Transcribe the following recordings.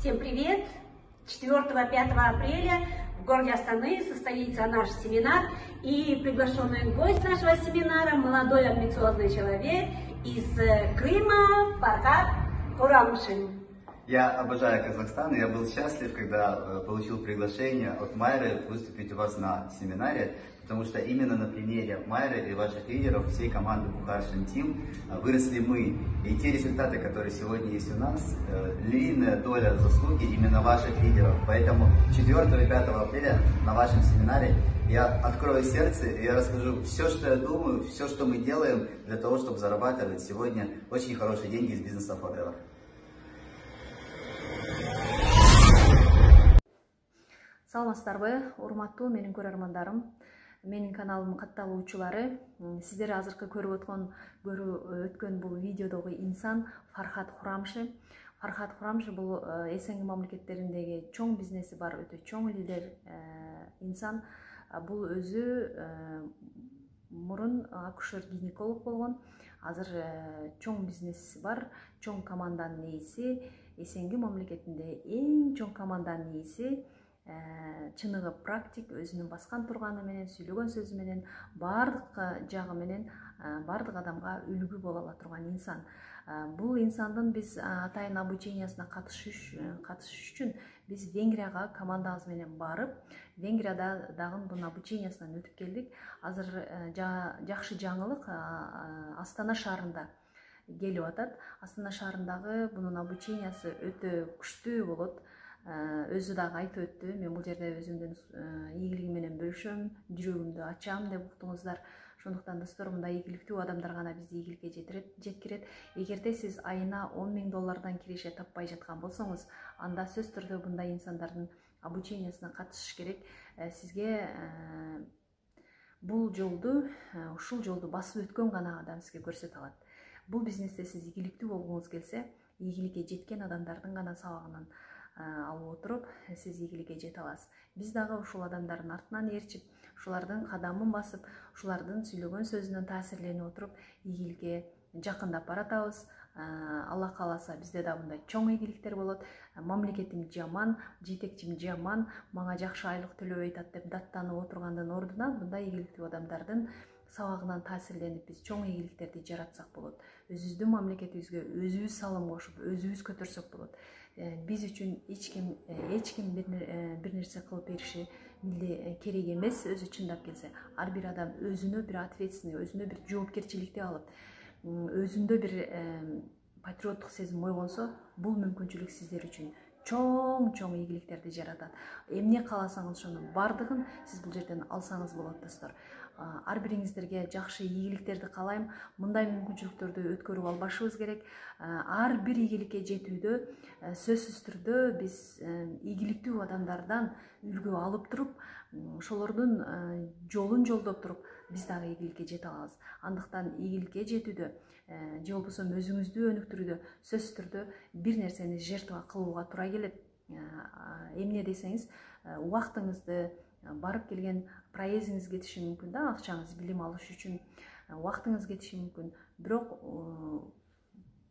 Всем привет! 4-5 апреля в городе Астаны состоится наш семинар. И приглашенный гость нашего семинара – молодой амбициозный человек из Крыма Фархат Хурамшин. Я обожаю Казахстан, и я был счастлив, когда получил приглашение от Майры выступить у вас на семинаре, потому что именно на примере Майры и ваших лидеров, всей команды Bukharshin Team, выросли мы. И те результаты, которые сегодня есть у нас, львиная доля заслуги именно ваших лидеров. Поэтому 4 и 5 апреля на вашем семинаре я открою сердце, и я расскажу все, что я думаю, все, что мы делаем для того, чтобы зарабатывать сегодня очень хорошие деньги из бизнеса Forever. Саламатсыздарбы, урматтуу менин көрөрмандарым, менин каналымдын катталуучулары. Сиздер азыркы көрүп өткөн бул видеодогу инсан Фархат Хурамшин. Фархат Хурамшин бул СНГ мамлекеттериндеги чоң бизнеси бар, өтө чоң лидер инсан. Бул өзү мурун акушер-гинеколог болгон. Азыр чоң бизнеси бар, чоң команданын ээси, СНГ мамлекетинде эң чоң команданын ээси. Чыныгы практик, өзүнүн баскан турганы менен, сүйлөгөн сөзү менен, бардык жагы менен бардык адамга үлгү боло ала турган инсан. Бул инсандын биз атайын обучениясына катышыш үчүн биз Венгрияга командабыз менен барып, Венгрияда дагы бунун обучениясынан өтүп келдик. Азыр жакшы жаңылык Астана шаарында келип атат. Астана шаарындагы бунун обучениясы өтө күчтүү болот. Өзү дагы айтып өттү, мен бул жерде өзүмдүн ийгилигим менен бөлүшөм, жүрөгүмдү ачам деп уктуңуздар. Ошондуктан достор, мындай ийгиликтүү адамдар гана бизди ийгиликке жеткирет. Эгерде сиз айына $10,000 киреше таппай жаткан болсоңуз, анда сөзсүз түрдө мындай инсандардын обучениясына катышыш керек. Сизге бул жолду, ушул жолду басып өткөн гана адам сизге көрсөтө алат. Бул бизнесте сиз ийгиликтүү болгуңуз келсе, ийгиликке жеткен адамдардын гана сабагынан алып отуруп, сиз ийгиликке жете аласыз. Биз дагы ушул адамдардын артынан ээрчип, ушулардын кадамын басып, ушулардын сүйлөгөн сөзүнөн таасирленип отуруп, ийгиликке жакындап баратабыз. Алла кааласа, бизде да мындай чоң ийгиликтер болот. Мамлекетим жаман, жетекчим жаман, мага жакшы айлык төлөбөй атат деп даттанып отургандын ордуна, мындай ийгиликтүү адамдардын сабагынан таасирленип биз чоң ийгиликтерди жаратсак болот. Өзүбүздүн мамлекетибизге өзүбүз салым кошуп, өзүбүз көтөрсөк болот. Биз үчүн эч ким бир нерсе кылып бериши керек эмес. Өзү чындап келсе, ар бир адам өзүнө бир ответственный, өзүнө бир жоопкерчиликти алып, өзүндө бир патриоттук сезим ойгонсо, бул мүмкүнчүлүк сиздер үчүн чоң ийгиликтерди жаратат. Эмне кааласаңыз ошонун бардыгын сиз бул жерден алсаңыз болот, достор. Ар бириңиздерге жакшы ийгиликтерди каалайм. Мындай мүмкүнчүлүктөрдү өткөрүп албашыбыз керек. Ар бир ийгиликке жетүүдө сөзсүз түрдө биз ийгиликтүү адамдардан үлгү алып туруп, ошолордун жолун жолдоп туруп, биз дагы ийгиликке жете алабыз. Андыктан ийгиликке жетүүдө же болбосо өзүңүздү өнүктүрүүдө сөзсүз түрдө бир нерсени жертва кылууга туура келет. Эмне десеңиз, убактыңызды, барып келген проездиңиз кетиши мүмкүн да, акчаңыз билим алыш үчүн убактыңыз кетиши мүмкүн. Бирок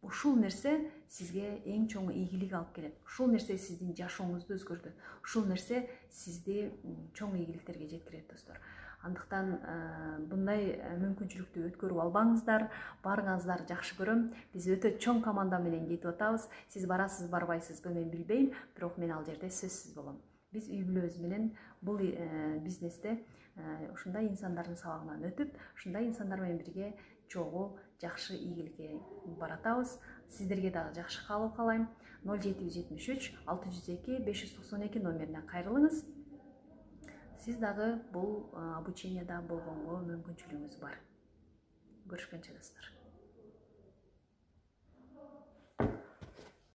ушул нерсе сизге эң чоң ийгилик алып келет. Ушул нерсе сиздин жашооңузду өзгөртөт. Ушул нерсе сизди чоң ийгиликтерге жеткирет, достор. Андыктан мындай мүмкүнчүлүктү өткөрүп албаңыздар, барыңыздар, жакшы көрөм. Биз өтө чоң команда менен кетип атабыз. Сиз барасыз, барбайсызбы, мен билбейм, бирок мен ал жерде сөзсүз болом. Биз үй бүлөбүз менен бул бизнесте ушундай инсандардын сабагынан өтүп, ушундай инсандар менен бирге чогуу жакшы ийгиликке баратабыз. Сиздерге дагы жакшы каалоо каалайм. 0773 602 592 номерине кайрылыңыз. Сиз дагы бул обученияда болгонго мүмкүнчүлүгүңүз бар. Көрүшкөнчө, достор.